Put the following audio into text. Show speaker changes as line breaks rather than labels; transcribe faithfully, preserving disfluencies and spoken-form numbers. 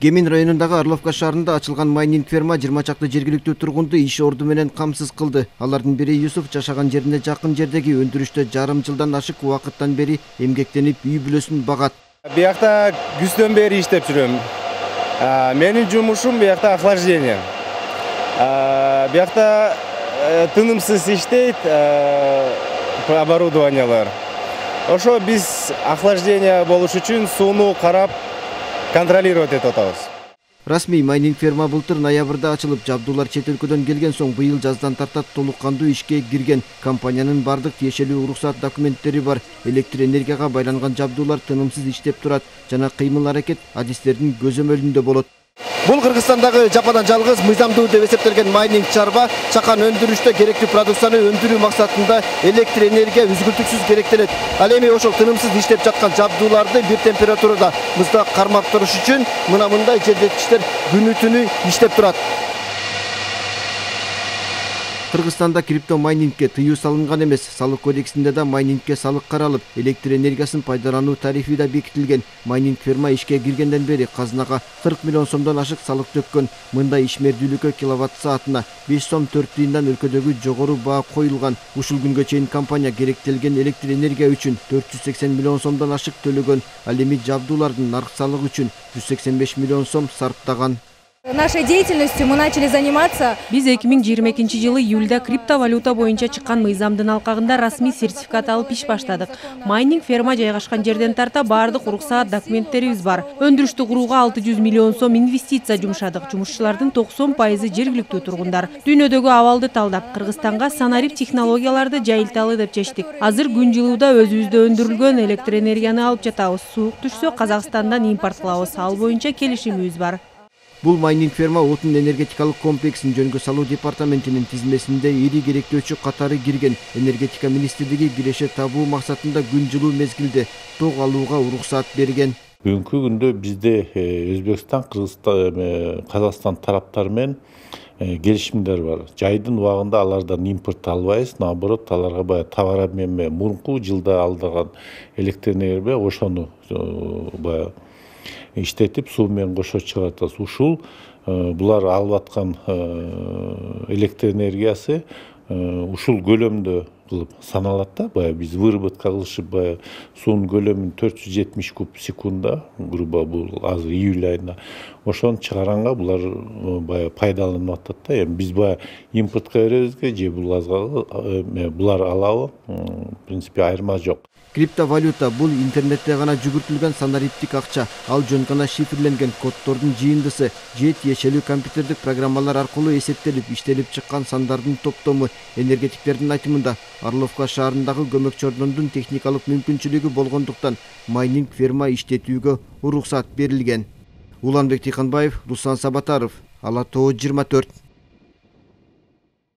Кемин районундагы Орловка шаарында ачылган майнинг ферма жыйырма чакты жергиликтүү тургунду иш орду менен камсыз кылды. Алардын бири Юсуф жашаган жерине жакын жердеги өндүрүштө жарым жылдан ашык убакыттан бери эмгектенип үй бүлөсүн багат.
Биякта күздөн бери иштеп жүрөм. Менин жумушум биякта охлаждение. Биякта тынымсыз иштейт оборудованиялар. Ошо биз охлаждение болуш үчүн сууну карап контролировать этип атабыз.
Расмий майнинг ферма былтыр ноябрда ачылып, жабдуулар чет өлкөдөн келген соң быйыл жаздан тартат толук кандуу ишке кирген. Компаниянын бардык тиешелүү уруксат документтери бар. Электр энергияга байланган жабдуулар тынымсыз иштеп турат жана кыймыл аракет адистердин көзөмөлүндө болот. Бул Кыргызстандагы жападан жалгыз мыйзамдуу деп эсептелген майнинг чарба чакан өндүрүштө керектүү продукцияны өндүрүү максатында электр энергия үзгүлтүксүз керектелет. Ал эми ошол тынымсыз иштеп жаткан жабдууларды бир температурада мызда кармап туруш үчүн мына мындай желдеткичтер күнү түнү иштеп турат. Кыргызстанда крипто майнингке тыюу салынган эмес. Салык кодексинде да майнингке салык каралып, электр энергиясын пайдалануу тарифи да бекитилген. Майнинг ферма ишке киргенден бери казынага кырк миллион сомдон ашык салык төккөн. Мындай ишмердүүлүккө киловатт саатына беш сом төрт тыйындан өлкөдөгү жогору баа коюлган. Ушул күнгө чейин компания керектелген электр энергия үчүн төрт жүз сексен миллион сомдон ашык төлөгөн. Ал эми жабдуулардын нарк салыгы үчүн жүз сексен беш миллион сом сарптаган.
Нашей деятельностью мы начали заниматься.
Биз эки миң жыйырма экинчи жылы июлда криптовалюта боюнча чыккан мыйзамдын алкагында расмий сертификат алып иш баштадык. Майнинг ферма жайгашкан жерден тарта бардык уруксаат документтерибиз бар. Өндүрүштү курууга алты жүз миллион сом инвестиция жумшадык. Жумушчулардын токсон пайызы жергиликтүү тургундар. Дүйнөдөгү абалды талдап, Кыргызстанга санарип технологияларды жайылталы деп чечтик. Азыр күн жылууда өзүбүздө өндүрүлгөн электр энергияны алып жатабыз. Суук түшсө Казакстандан импорт кылабыз. Ал боюнча келишимибиз бар.
Бул майнинг ферма отун энергетикалык комплексин жөнгө салуу департаментинин тизмесинде ири керектөөчү катары кирген. Энергетика министрлиги киреше табуу максатында күн жылуу мезгилде ток алууга уруксаат берген.
Бүгүнкү күндө бизде Өзбекстан, Кыргызстан, Казакстан тараптары менен келишимдер бар. Жайдын убагында алардан импорт албайбыз, наоборот, аларга баягы товар менен мурунку жылда алдаган электр энергия ошону баягы иштетип суу менен кошо чыгартабыз. Ушул булар алып аткан электр энергиясы ушул көлөмдө кылып саналат да. Баягы биз выработка кылышып баягы суунун көлөмүн төрт жүз жетимиш куб секунда, грубо бул азыр июль айында ошону чыгаранга булар баягы пайдаланып атат да. Эми биз баягы импортко беребизге же булар алабы, в принципе айырма жок.
Криптовалюта бул интернетте гана жүгүртүлгөн санариптик акча. Ал жөн гана шифрленген коддордун жыйындысы же тиешелүү компьютердик программалар аркылуу эсептелип, иштелип чыккан сандардын топтому. Энергетиктердин айтымында Орловка шаарындагы көмөкчү ордондун техникалык мүмкүнчүлүгү болгондуктан майнинг ферма иштетүүгө уруксаат берилген. Уланбек Тыйканбаев, Руслан Сабатаров, Ала Тоо жыйырма төрт.